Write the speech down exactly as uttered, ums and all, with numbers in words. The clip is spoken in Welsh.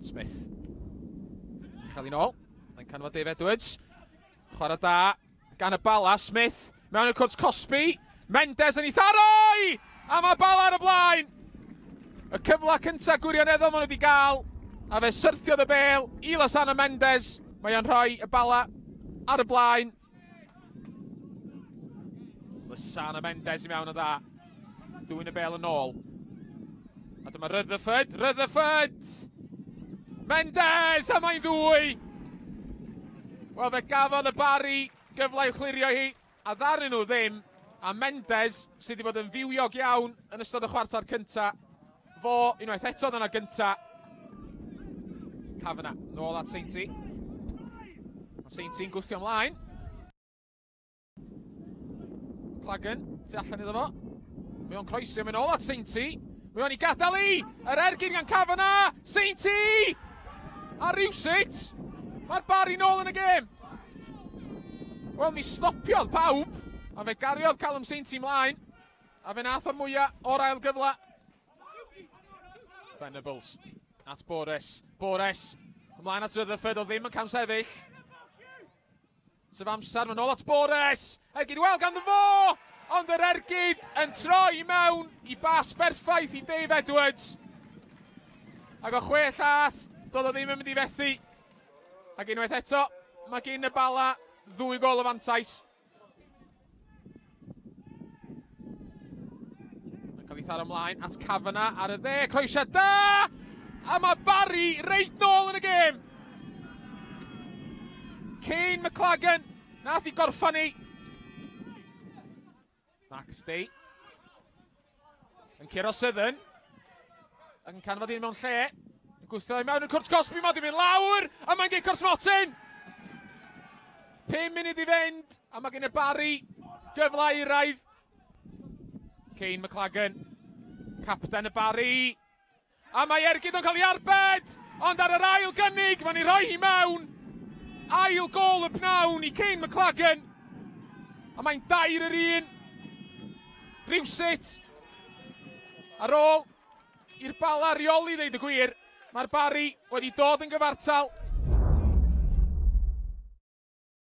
Smith. Chael hi'n ôl. Mae'n canfod Dave Edwards. Chwarae da gan y Bala. Smith mewn y cwrt cosbi. Mendes yn ei tharoi! A mae Bala ar y blaen! Y cyfle cyntaf gwirioneddol maen nhw wedi gael. A fe syrthiodd y bel i Lasana Mendes. Mae o'n rhoi y Bala ar y blaen. Lasana Mendes i mewn o dda. Dwyn y bel yn ôl. A dyma Rutherford. Rutherford! Mendes! A mae'n ddwy! Wel, fe gafodd y Barri gyfle i'w chlirio hi, a ddaru nhw ddim. A Mendes, sydd wedi bod yn fywiog iawn yn ystod y chwarter cynta, fo unwaith eto yna gynta. Kavanagh, nôl at Sainty. Mae Sainty'n gwthio ymlaen. McLagan, tu allan iddo fo. Mae o'n croesi, mae'n ôl at Sainty. Mae o'n i gadael i! Yr ergyd gan Kavanagh! Sainty! A rywsut, mae'r Barri nôl yn y gêm. Wel, mi stopiodd pawb, a fe gariodd Callum Sainty mlaen, a fe nath o'r mwyaf o'r ail gyfle. Venables at Bores. Bores, ymlaen at Rutherford, o ddim yn camsefyll. Sef amser, mae'n ôl at Bores! Ergyd wel ganddo fo! Ond yr ergyd yn troi mewn i bas berffaith i Dave Edwards. Ac o chwe llath, doedd o ddim yn mynd i fethu. Ac unwaith eto, mae gen y Bala ddwy gol o fantais. Mae'n cael ei tharo ymlaen at Kavanagh ar y dde, croesiad da! A mae Barri reit nôl yn y gêm! Kane McLagan, nath i gorffan ni. Marcus Day yn curo Southern, ac yn canfod un mewn lle, yn gwthio i mewn yn cwrt cosbi, mae di mynd lawr, a mae'n gic o'r smotyn! Pum munud i fynd, a mae gen y Barri gyfle iraidd. Kane McLagan, capten y Barri, a mae ergyd o'n cael ei arbed, ond ar yr ail gynnig, mae'n ei rhoi hi mewn. Ail gôl y pnawn i Kane McLagan, a mae'n dair yr un. Rywsut, ar ôl i'r Bala reoli ddeud y gwir, mae'r Barri wedi dod yn gyfartal.